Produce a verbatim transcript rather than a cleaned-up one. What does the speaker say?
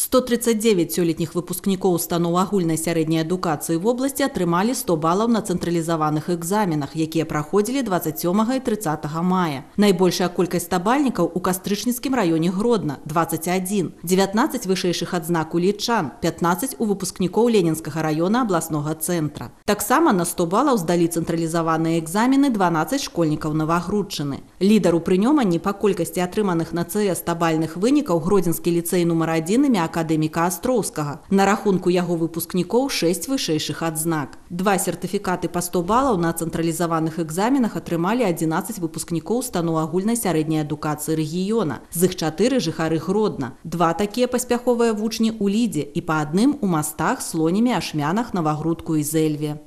сто тридцать девять сёлетніх выпускнікоў устаноў агульнай сярэдняй адукацыі в области атрымалі сто балаў на цэнтралізаваных экзаменах, якія праходзілі двадцать сёмага і трыццатага мая. Найбольшая колькасць стабальнікаў у Кастрычніцкім раёне Гродна – двадцать один, дзевятнаццаць вышэйшых адзнак у лічан, пятнаццаць у выпускнікоў Ленінскага раёна абласнога цэнтра. Таксама на сто балаў здалі цэнтралізаваныя экзамены дванаццаць школьнікаў Навагрудчыны. Лідар у прынёманні па колькасці атрыманых на ЦС стабальных вынікаў Гродзенскі ліцэй нумар адзін імя акадэміка Астроўскага. На рахунку яго выпускнікоў шэсць вышэйшых адзнак. Два сертыфікаты па сто балаў на цэнтралізаваных экзаменах атрымалі адзінаццаць выпускнікоў устаноў агульнай сярэдняй адукацыі рэгіёна. З іх чатыры жыхары Гродна. Два такія паспяховыя вучні ў Лідзе і па адным у Мастах, Слонімі, Ашмянах, Навагрудку і Зэльве.